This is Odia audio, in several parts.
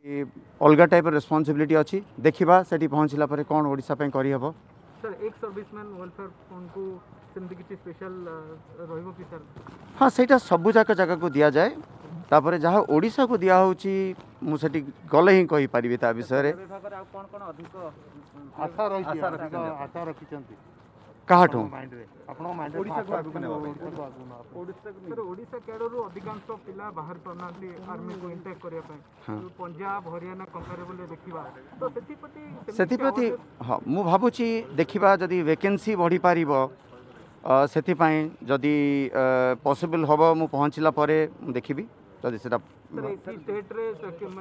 ଅଲଗା ଟାଇପ୍ର ରେସ୍ପନ୍ସିବିଲିଟି ଅଛି। ଦେଖିବା ସେଠି ପହଞ୍ଚିଲା ପରେ କ'ଣ ଓଡ଼ିଶା ପାଇଁ କରିହେବ। ସାର୍, ଏକ୍ସ ସର୍ଭିସମ୍ୟାନ୍ ୱେଲଫେୟାର ଫଣ୍ଡକୁ ସେମିତି କିଛି ସ୍ପେଶାଲ ରହିବ କି ସାର୍? ହଁ, ସେଇଟା ସବୁ ଯାକ ଜାଗାକୁ ଦିଆଯାଏ। ତାପରେ ଯାହା ଓଡ଼ିଶାକୁ ଦିଆହେଉଛି, ମୁଁ ସେଠି ଗଲେ ହିଁ କହିପାରିବି ତା ବିଷୟରେ। ବିଭାଗରେ ଆଉ କ'ଣ କ'ଣ ଅଧିକ ଆଶା ରହିଛି, ଆଶା ରଖିଛନ୍ତି କାହାଠୁ? ମାଇଣ୍ଡରେ, ଆପଣଙ୍କ ମାଇଣ୍ଡରେ ଓଡ଼ିଶାକୁ ଆଗକୁ ନେବା ପାଇଁ। ଓଡ଼ିଶାକୁ ଆଗକୁ ନେବା ପାଇଁ। ସାର୍, ଓଡ଼ିଶା କ୍ୟାଡରରୁ ଅଧିକାଂଶ ପିଲା ବାହାରି ପାରୁନାହାନ୍ତି ଆର୍ମିକୁ ଇନଟେକ୍ କରିବା ପାଇଁ। ଯୋଉ ପଞ୍ଜାବ, ହରିୟାଣା କମ୍ପାରେବଲରେ ଦେଖିବା ତ ସେଥିପ୍ରତି ସେମିତି କିଛି ସେଥିପ୍ରତି awareness? ହଁ, ମୁଁ ଭାବୁଛି ଦେଖିବା ଯଦି ଭେକେନ୍ସି ବଢ଼ିପାରିବ, ସେଥିପାଇଁ ଯଦି ପସିବଲ୍ ହେବ, ମୁଁ ପହଞ୍ଚିଲା ପରେ ମୁଁ ଦେଖିବି ଯଦି ସେଟା। ସାର୍, ଏଠି ଷ୍ଟେଟ୍ରେ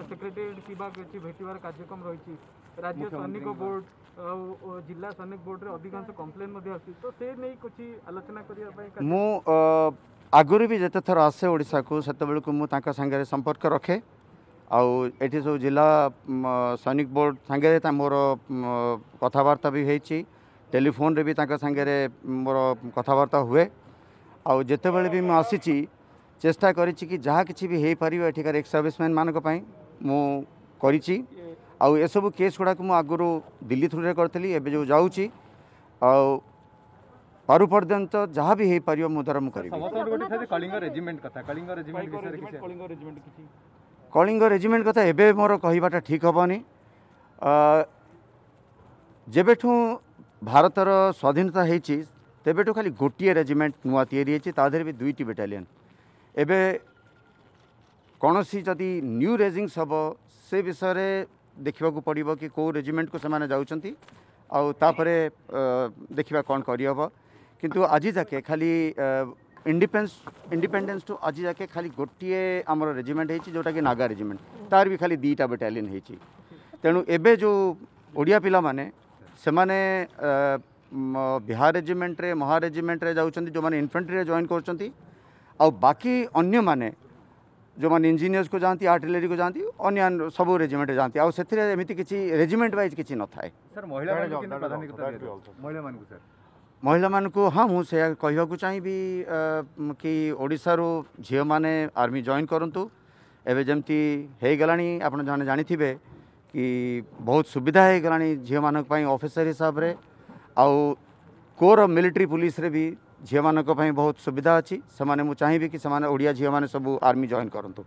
ସେକ୍ରେଟେରିଏଟ୍ କିମ୍ବା କିଛି ଭେଟିବାର କାର୍ଯ୍ୟକ୍ରମ ରହିଛି? ରାଜ୍ୟ ସୈନିକ ବୋର୍ଡ ଆଉ ଜିଲ୍ଲା ସୈନିକ ବୋର୍ଡରେ ଅଧିକାଂଶ କମ୍ପ୍ଲେନ୍ ମଧ୍ୟ ଆସୁଛି, ତ ସେ ନେଇ କିଛି ଆଲୋଚନା କରିବା ପାଇଁ ମୁଁ ଆଗରୁ ବି ଯେତେ ଥର ଆସେ ଓଡ଼ିଶାକୁ, ସେତେବେଳକୁ ମୁଁ ତାଙ୍କ ସାଙ୍ଗରେ ସମ୍ପର୍କ ରଖେ। ଆଉ ଏଠି ସବୁ ଜିଲ୍ଲା ସୈନିକ ବୋର୍ଡ଼ ସାଙ୍ଗରେ ତା ମୋର କଥାବାର୍ତ୍ତା ବି ହେଇଛି, ଟେଲିଫୋନ୍ରେ ବି ତାଙ୍କ ସାଙ୍ଗରେ ମୋର କଥାବାର୍ତ୍ତା ହୁଏ। ଆଉ ଯେତେବେଳେ ବି ମୁଁ ଆସିଛି, ଚେଷ୍ଟା କରିଛି କି ଯାହା କିଛି ବି ହେଇପାରିବ ଏଠିକାର ଏକ୍ସ ସର୍ଭିସମ୍ୟାନ୍ ମାନଙ୍କ ପାଇଁ ମୁଁ କରିଛି। ଆଉ ଏସବୁ କେସ୍ ଗୁଡ଼ାକ ମୁଁ ଆଗରୁ ଦିଲ୍ଲୀ ଥ୍ରୁରେ କରିଥିଲି। ଏବେ ଯେଉଁ ଯାଉଛି, ଆଉ ପାରୁ ପର୍ଯ୍ୟନ୍ତ ଯାହା ବି ହେଇପାରିବ ମୋ ଦ୍ୱାରା ମୁଁ କରିବି। ସମସ୍ତଙ୍କର ଗୋଟେ ଥାଏ ଯେ କଳିଙ୍ଗ ରେଜିମେଣ୍ଟ କଥା, କଳିଙ୍ଗ ରେଜିମେଣ୍ଟ ବିଷୟରେ କିଛି? କଳିଙ୍ଗ ରେଜିମେଣ୍ଟ କିଛି? କଳିଙ୍ଗ ରେଜିମେଣ୍ଟ କଥା ଏବେ ମୋର କହିବାଟା ଠିକ୍ ହେବନି। ଯେବେଠୁ ଭାରତର ସ୍ୱାଧୀନତା ହେଇଛି, ତେବେଠୁ ଖାଲି ଗୋଟିଏ ରେଜିମେଣ୍ଟ ନୂଆ ତିଆରି ହେଇଛି, ତା ଦେହରେ ବି 2ଟି ବାଟାଲିୟନ୍। ଏବେ କୌଣସି ଯଦି ନ୍ୟୁ ରେଜିଙ୍ଗସ୍ ହେବ, ସେ ବିଷୟରେ ଦେଖିବାକୁ ପଡ଼ିବ କି କେଉଁ ରେଜିମେଣ୍ଟକୁ ସେମାନେ ଯାଉଛନ୍ତି, ଆଉ ତାପରେ ଦେଖିବା କ'ଣ କରିହେବ। କିନ୍ତୁ ଆଜି ଯାକେ ଖାଲି ଇଣ୍ଡିପେଣ୍ଡେନ୍ସଠୁ ଆଜି ଯାକେ ଖାଲି ଗୋଟିଏ ଆମର ରେଜିମେଣ୍ଟ ହେଇଛି, ଯେଉଁଟାକି ନାଗା ରେଜିମେଣ୍ଟ, ତାର ବି ଖାଲି 2ଟା ବାଟାଲିୟନ୍ ହେଇଛି। ତେଣୁ ଏବେ ଯେଉଁ ଓଡ଼ିଆ ପିଲାମାନେ, ସେମାନେ ବିହାର ରେଜିମେଣ୍ଟରେ, ମହା ରେଜିମେଣ୍ଟରେ ଯାଉଛନ୍ତି, ଯେଉଁମାନେ ଇନଫେଣ୍ଟ୍ରିରେ ଜଏନ୍ କରୁଛନ୍ତି। ଆଉ ବାକି ଅନ୍ୟମାନେ ଯେଉଁମାନେ ଇଞ୍ଜିନିୟର୍ସକୁ ଯାଆନ୍ତି, ଆର୍ଟିଲେରୀକୁ ଯାଆନ୍ତି, ଅନ୍ୟ ସବୁ ରେଜିମେଣ୍ଟରେ ଯାଆନ୍ତି। ଆଉ ସେଥିରେ ଏମିତି କିଛି ରେଜିମେଣ୍ଟ ୱାଇଜ୍ କିଛି ନଥାଏ। ସାର୍, ମହିଳାମାନଙ୍କୁ କେମିତି ପ୍ରାଧାନ୍ୟତା ଦିଆଯାଉଛି ମହିଳାମାନଙ୍କୁ ସାର୍? ମହିଳାମାନଙ୍କୁ, ହଁ, ମୁଁ ସେଇଆ କହିବାକୁ ଚାହିଁବି କି ଓଡ଼ିଶାରୁ ଝିଅମାନେ ଆର୍ମି ଜଏନ୍ କରନ୍ତୁ। ଏବେ ଯେମିତି ହେଇଗଲାଣି, ଆପଣ ଜଣେ ଜାଣିଥିବେ କି ବହୁତ ସୁବିଧା ହେଇଗଲାଣି ଝିଅମାନଙ୍କ ପାଇଁ ଅଫିସର ହିସାବରେ, ଆଉ କୋର ମିଲିଟାରୀ ପୁଲିସରେ ବି ଝିଅମାନଙ୍କ ପାଇଁ ବହୁତ ସୁବିଧା ଅଛି। ସେମାନେ, ମୁଁ ଚାହିଁବି କି ସେମାନେ ଓଡ଼ିଆ ଝିଅମାନେ ସବୁ ଆର୍ମି ଜଏନ୍ କରନ୍ତୁ।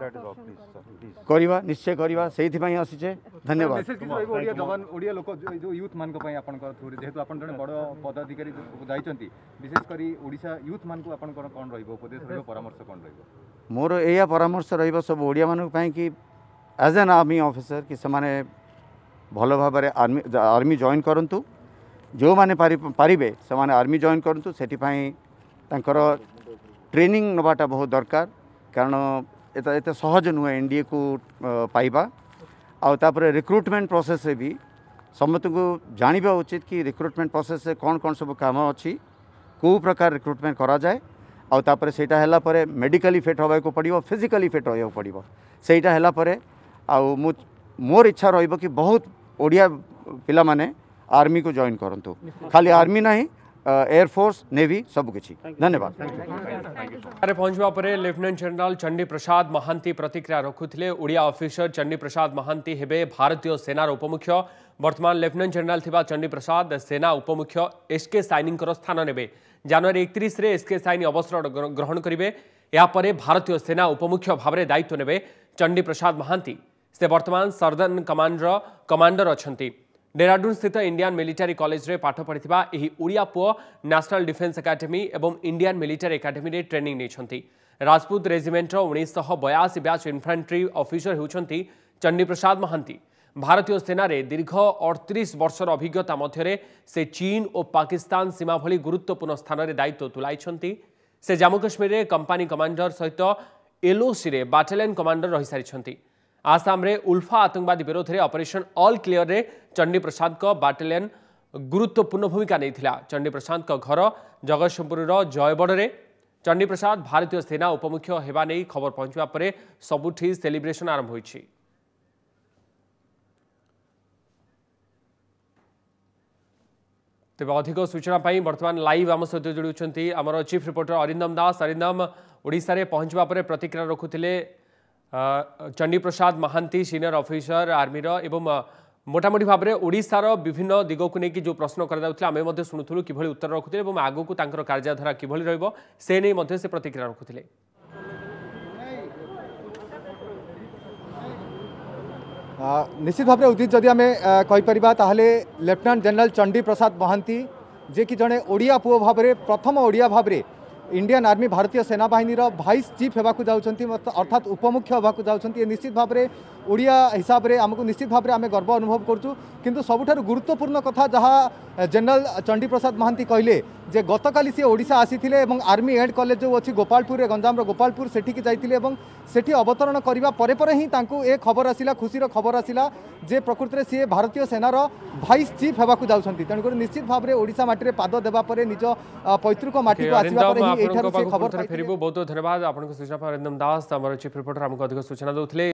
That is all, please, sir, please. କରିବା, ନିଶ୍ଚୟ କରିବା, ସେଇଥିପାଇଁ ଆସିଛେ। ଧନ୍ୟବାଦ। ମେସେଜ କିଛି ରହିବ ଓଡ଼ିଆ ଯବାନ, ଓଡ଼ିଆ ଲୋକ, ଯୋଉ ୟୁଥ୍ ମାନଙ୍କ ପାଇଁ ଆପଣଙ୍କ ଥ୍ରୁରେ, ଯେହେତୁ ଆପଣ ଜଣେ ବଡ଼ ପଦାଧିକାରୀ ଯାଇଛନ୍ତି, ବିଶେଷ କରି ଓଡ଼ିଶା ୟୁଥ୍ ମାନଙ୍କୁ ଆପଣଙ୍କର କ'ଣ ରହିବ ଉପଦେଶ, ରହିବ ପରାମର୍ଶ କ'ଣ ରହିବ? ମୋର ଏଇଆ ପରାମର୍ଶ ରହିବ ସବୁ ଓଡ଼ିଆମାନଙ୍କ ପାଇଁ କି ଆଜ୍ ଆନ୍ ଆର୍ମି ଅଫିସର କି ସେମାନେ ଭଲ ଭାବରେ ଆର୍ମି ଜଏନ୍ କରନ୍ତୁ। ଯେଉଁମାନେ ପାରିବେ ସେମାନେ ଆର୍ମି ଜଏନ୍ କରନ୍ତୁ। ସେଥିପାଇଁ ତାଙ୍କର ଟ୍ରେନିଂ ନେବାଟା ବହୁତ ଦରକାର, କାରଣ ଏଟା ଏତେ ସହଜ ନୁହେଁ ଏନ୍ଡିଏକୁ ପାଇବା। ଆଉ ତାପରେ ରିକ୍ରୁଟମେଣ୍ଟ ପ୍ରୋସେସ୍ରେ ବି ସମସ୍ତଙ୍କୁ ଜାଣିବା ଉଚିତ କି ରିକ୍ରୁଟମେଣ୍ଟ ପ୍ରୋସେସ୍ରେ କ'ଣ କ'ଣ ସବୁ କାମ ଅଛି, କେଉଁ ପ୍ରକାର ରିକ୍ରୁଟମେଣ୍ଟ କରାଯାଏ। ଆଉ ତାପରେ ସେଇଟା ହେଲା ପରେ ମେଡ଼ିକାଲି ଫିଟ୍ ହେବାକୁ ପଡ଼ିବ, ଫିଜିକାଲି ଫିଟ୍ ରହିବାକୁ ପଡ଼ିବ। ସେଇଟା ହେଲା ପରେ ଆଉ ମୁଁ ମୋର ଇଚ୍ଛା ରହିବ କି ବହୁତ ଓଡ଼ିଆ ପିଲାମାନେ ଆର୍ମିକୁ ଜଏନ୍ କରନ୍ତୁ। ଖାଲି ଆର୍ମି ନାହିଁ, ଏୟାରଫୋର୍ସ, ନେଭି, ସବୁକିଛି। ଧନ୍ୟବାଦ। ରେ ପହଞ୍ଚିବା ପରେ ଲେଫ୍ଟନାଣ୍ଟ ଜେନେରାଲ ଚଣ୍ଡୀ ପ୍ରସାଦ ମହାନ୍ତି ପ୍ରତିକ୍ରିୟା ରଖୁଥିଲେ। ଓଡ଼ିଆ ଅଫିସର ଚଣ୍ଡୀ ପ୍ରସାଦ ମହାନ୍ତି ହେବେ ଭାରତୀୟ ସେନାର ଉପମୁଖ୍ୟ। ବର୍ତ୍ତମାନ ଲେଫ୍ଟନାଣ୍ଟ ଜେନେରାଲ ଥିବା ଚଣ୍ଡୀ ପ୍ରସାଦ ସେନା ଉପମୁଖ୍ୟ ଏସ୍କେ ସାଇନିଙ୍କର ସ୍ଥାନ ନେବେ। ଜାନୁଆରୀ 31ରେ ଏସ୍କେ ସାଇନି ଅବସର ଗ୍ରହଣ କରିବେ। ଏହାପରେ ଭାରତୀୟ ସେନା ଉପମୁଖ୍ୟ ଭାବରେ ଦାୟିତ୍ୱ ନେବେ ଚଣ୍ଡୀ ପ୍ରସାଦ ମହାନ୍ତି। ସେ ବର୍ତ୍ତମାନ ସର୍ଦନ କମାଣ୍ଡର କମାଣ୍ଡର ଅଛନ୍ତି। ଡେରାଡୁନ୍ ସ୍ଥିତ ଇଣ୍ଡିଆନ୍ ମିଲିଟାରୀ କଲେଜରେ ପାଠ ପଢ଼ିଥିବା ଏହି ଓଡ଼ିଆ ପୁଅ ନ୍ୟାସନାଲ ଡିଫେନ୍ସ ଏକାଡେମୀ ଏବଂ ଇଣ୍ଡିଆନ୍ ମିଲିଟାରୀ ଏକାଡେମୀରେ ଟ୍ରେନିଂ ନେଇଛନ୍ତି। ରାଜପୁତ ରେଜିମେଣ୍ଟର 1982 ବ୍ୟାଚ୍ ଇନଫାଣ୍ଟ୍ରି ଅଫିସର ହେଉଛନ୍ତି ଚଣ୍ଡୀପ୍ରସାଦ ମହାନ୍ତି। ଭାରତୀୟ ସେନାରେ ଦୀର୍ଘ 38 ବର୍ଷର ଅଭିଜ୍ଞତା ମଧ୍ୟରେ ସେ ଚୀନ ଓ ପାକିସ୍ତାନ ସୀମା ଭଳି ଗୁରୁତ୍ୱପୂର୍ଣ୍ଣ ସ୍ଥାନରେ ଦାୟିତ୍ୱ ତୁଲାଇଛନ୍ତି। ସେ ଜାମ୍ମୁ କାଶ୍ମୀରରେ କମ୍ପାନୀ କମାଣ୍ଡର ସହିତ ଏଲ୍ଓସିରେ ବାଟାଲିୟନ କମାଣ୍ଡର ରହିସାରିଛନ୍ତି। ଆସାମରେ ଉଲ୍ଫା ଆତଙ୍କବାଦୀ ବିରୋଧରେ ଅପରେସନ ଅଲ୍ କ୍ଲିୟରରେ ଚଣ୍ଡୀପ୍ରସାଦଙ୍କ ବାଟାଲିୟନ ଗୁରୁତ୍ୱପୂର୍ଣ୍ଣ ଭୂମିକା ନେଇଥିଲା। ଚଣ୍ଡୀପ୍ରସାଦଙ୍କ ଘର ଜଗତସିଂହପୁରର ଜୟଗଡ଼ରେ। ଚଣ୍ଡୀପ୍ରସାଦ ଭାରତୀୟ ସେନା ଉପମୁଖ୍ୟ ହେବା ନେଇ ଖବର ପହଞ୍ଚିବା ପରେ ସବୁଠି ସେଲିବ୍ରେସନ ଆରମ୍ଭ ହୋଇଛି। ତେବେ ଅଧିକ ସୂଚନା ପାଇଁ ବର୍ତ୍ତମାନ ଲାଇଭ୍ ଆମ ସହିତ ଯୋଡ଼ୁଛନ୍ତି ଆମର ଚିଫ୍ ରିପୋର୍ଟର ଅରିନ୍ଦମ ଦାସ। ଅରିନ୍ଦମ, ଓଡ଼ିଶାରେ ପହଞ୍ଚିବା ପରେ ପ୍ରତିକ୍ରିୟା ରଖୁଥିଲେ Chandi Prasad Mohanty senior officer आर्मीर ଏବଂ ମୋଟାମୋଟି ଭାବରେ ଓଡ଼ିଶାର ବିଭିନ୍ନ ଦିଗକୁ ନେଇକି ଯେଉଁ ପ୍ରଶ୍ନ କରାଯାଉଥିଲା ଆମେ ମଧ୍ୟ ଶୁଣୁଥିଲୁ କିଭଳି ଉତ୍ତର ରଖୁଥିଲେ ଏବଂ ଆଗକୁ ତାଙ୍କର କାର୍ଯ୍ୟଧାରା କିଭଳି ରହିବ ସେ ନେଇ ମଧ୍ୟ ସେ ପ୍ରତିକ୍ରିୟା ରଖୁଥିଲେ। ନିଶ୍ଚିତ ଭାବରେ ଉଦିତ, ଯଦି ଆମେ କହିପାରିବା ତାହେଲେ ଲେଫ୍ଟନାଣ୍ଟ ଜେନେରାଲ ଚଣ୍ଡୀ ପ୍ରସାଦ ମହାନ୍ତି ଯିଏକି ଜଣେ ଓଡ଼ିଆ ପୁଅ ଭାବରେ ପ୍ରଥମ ଓଡ଼ିଆ ଭାବରେ ଇଣ୍ଡିଆନ୍ ଆର୍ମି ଭାରତୀୟ ସେନାବାହିନୀର ଭାଇସ୍ ଚିଫ୍ ହେବାକୁ ଯାଉଛନ୍ତି, ଅର୍ଥାତ୍ ଉପମୁଖ୍ୟ ହେବାକୁ ଯାଉଛନ୍ତି। ଏ ନିଶ୍ଚିତ ଭାବରେ ଓଡ଼ିଆ ହିସାବରେ ଆମକୁ ନିଶ୍ଚିତ ଭାବରେ ଆମେ ଗର୍ବ ଅନୁଭବ କରୁଛୁ। କିନ୍ତୁ ସବୁଠାରୁ ଗୁରୁତ୍ୱପୂର୍ଣ୍ଣ କଥା ଯାହା ଜେନେରାଲ ଚଣ୍ଡୀ ପ୍ରସାଦ ମହାନ୍ତି କହିଲେ ଯେ ଗତକାଲି ସିଏ ଓଡ଼ିଶା ଆସିଥିଲେ ଏବଂ ଆର୍ମି ଏଣ୍ଡ କଲେଜ ଯେଉଁ ଅଛି ଗୋପାଳପୁରରେ, ଗଞ୍ଜାମର ଗୋପାଳପୁର, ସେଠିକି ଯାଇଥିଲେ ଏବଂ ସେଠି ଅବତରଣ କରିବା ପରେ ପରେ ହିଁ ତାଙ୍କୁ ଏ ଖବର ଆସିଲା, ଖୁସିର ଖବର ଆସିଲା ଯେ ପ୍ରକୃତରେ ସିଏ ଭାରତୀୟ ସେନାର ଭାଇସ୍ ଚିଫ୍ ହେବାକୁ ଯାଉଛନ୍ତି। ତେଣୁକରି ନିଶ୍ଚିତ ଭାବରେ ଓଡ଼ିଶା ମାଟିରେ ପାଦ ଦେବା ପରେ ନିଜ ପୈତୃକ ମାଟିକୁ ଆସିବା ପରେ ହିଁ ଏଠାରୁ ସେ ଖବର ଫେରିବୁ। ବହୁତ ବହୁତ ଧନ୍ୟବାଦ ଆପଣଙ୍କ ସୂଚନା ପାଇଁ। ଅରିନ୍ଦମ ଦାସ ଆମର ଚିଫ୍ ରିପୋର୍ଟର ଆମକୁ ଅଧିକ ସୂଚନା ଦେଉଥିଲେ।